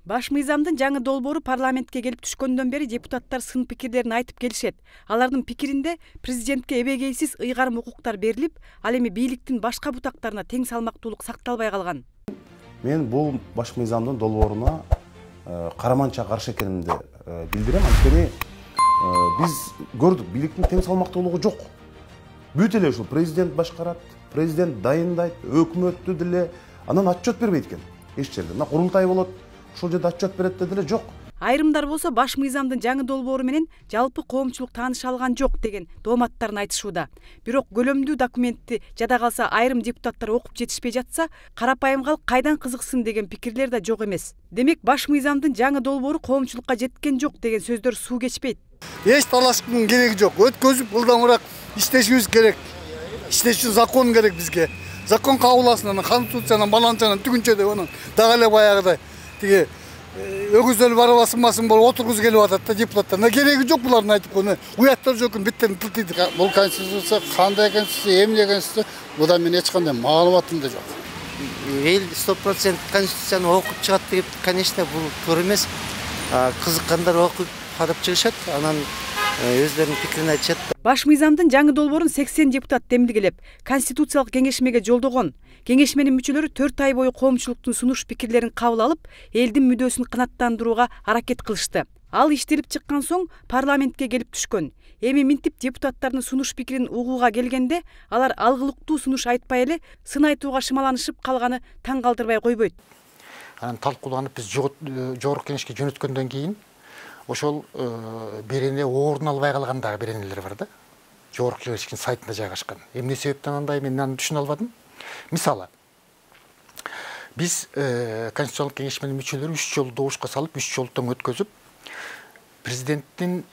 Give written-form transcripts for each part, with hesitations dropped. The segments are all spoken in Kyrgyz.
Баш мыйзамдын жаңы долбоору парламентке келип түшкөндөн бери депутаттар сын пикирлерин айтып келишет. Алардын пикиринде президентке эбегейсиз ыйгарым укуктар берилип, ал эми бийликтин башка бутактарына тең салмактуулук сакталбай калган. Мен бул баш мыйзамдын долбооруна караманча каршы экенимди билдирем. Анткени биз көрдүк, бийликтин тең салмактуулугу жок. Бүт эле ушул президент башкарат, президент дайындайт, өкмөттү деле анан отчет бербейт экен. Эч жерде. Мына курултай болот, ошол жерде отчет берет деле жок. Айрымдар болсо баш мыйзамдын жаңы долбоору менен жалпы коомчулук тааныша алган жок деген дооматтарын айтышууда. Бирок көлөмдүү документти жада калса айрым депутаттар окуп жетишпей жатса, карапайым калк кайдан кызыксын деген пикирлер да жок эмес. Демек баш мыйзамдын жаңы долбоору коомчулукка жеткен жок деген сөздөр суу кечпейт. Эч талаштын кереги жок. Өткөзүп ылдамыраак иштешибиз керек. Иштеш үчүн закон керек бизге. Закон кабыласын, конституциянын баланчанын түгүнчө деп анан дагы эле баягыдай тиги өгүздөр барабасынбасын болуп отургузу келип атат да депутаттар. Кереги жок булардын айтып койгон. Уяттар жок, биттерин тилтийди. Бул конституция кандай конституция, эмне конституция? Будан мен эч кандай маалыматым да жок. Эл 100% конституцияны окуп чыгат деп, конечно, бул туура эмес. Кызыккандар окуп карап чыгышат, анан өздөрүнүн пикирин айтышат. Баш мыйзамдын жаңы долбоорун 80 депутат демилгелеп, конституциялык кеңешмеге жолдогон. Кеңешменин мүчөлөрү 4 ай бою коомчулуктун сунуш пикирлерин кабыл алып, элдин мүдөөсүн канааттандырууга аракет кылышты. Ал иштелип чыккан соң парламентке келип түшкөн. Эми минтип депутаттардын сунуш пикирин угууга келгенде, алар алгылыктуу сунуш айтпай эле сын айтууга шымаланышып калганы таң калтырбай койбойт. Анан талкууланып биз жогорку кеңешке жөнөткөндөн кийин ошол берене орун албай калган дагы беренелер бар да. Жогорку кеңештин сайтында жайгашкан. Эмне себептен андай мен аны түшүнө албадым. Мисалы, биз конституциялык кеңешменин мүчөлөрү 3 жолу добушка салып, 3 жолу тең өткөзүп, президенттин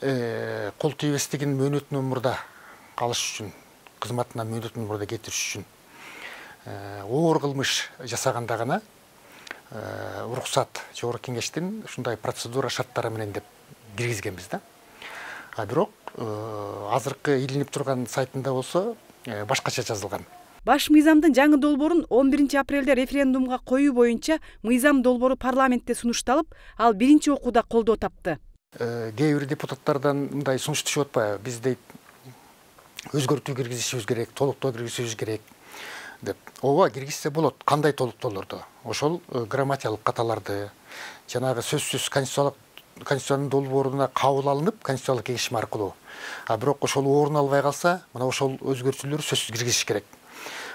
кол тийбестигин мөөнөтүнөн мурда калыш үчүн, кызматына мөөнөтүнөн мурда кетириш үчүн оор кылмыш жасаганда гана уруксат жогорку кеңештин ушундай процедура шарттары менен деп киргизгенбиз да. Бирок азыркы илинип турган сайтында болсо башкача жазылган. Баш мыйзамдын жаңы долбоорун 11 апрелде референдумга коюу боюнча мыйзам долбоору парламентте сунушталып, ал биринчи окууда колдоо тапты. Кээ бир депутаттардан мындай сунуш түшүп атпайбы? Биз дейт өзгөртүү киргизишибиз керек, толуктоо киргизишибиз керек деп. Ооба, киргизсе болот. Кандай толуктоолорду? Ошол грамматикалык каталарды, жанагы сөзсүз конституциянын долбооруна кабыл алынып, конституциялык кеңешме аркылуу. Бирок ошол орун албай калса, мына ошол өзгөртүүлөр сөзсүз киргизиш керек.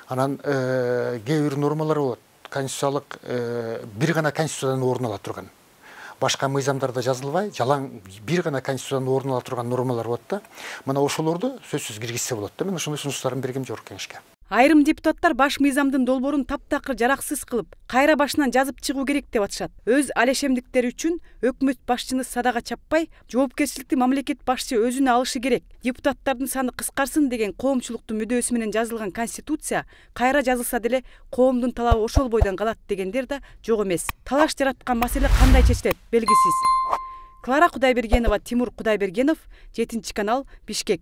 Анан кээ бир нормалар болот. Конституциялык бир гана конституциядан орун ала турган. Башка мыйзамдарда жазылбай, жалаң бир гана конституциядан орун ала турган нормалар болот да. Мына ошолорду сөзсүз киргизсе болот да. Мен ошондой сунуштарын бергем жогорку кеңешке. Айрым депутаттар баш мыйзамдын долбоорун таптакыр жараксыз кылып, кайра башынан жазып чыгуу керек деп атышат. Өз алешемдиктери үчүн өкмөт башчыны садага чаппай, жоопкерчиликти мамлекет башчы өзүнө алышы керек. Депутаттардын саны кыскарсын деген коомчулуктун мүдөөсү менен жазылган конституция кайра жазылса деле коомдун талабы ошол бойдон калат дегендер да жок эмес. Талаш жараткан маселе кандай чечилет белгисиз. Клара Кудайбергенова, Тимур Кудайбергенов, 7 канал, Бишкек.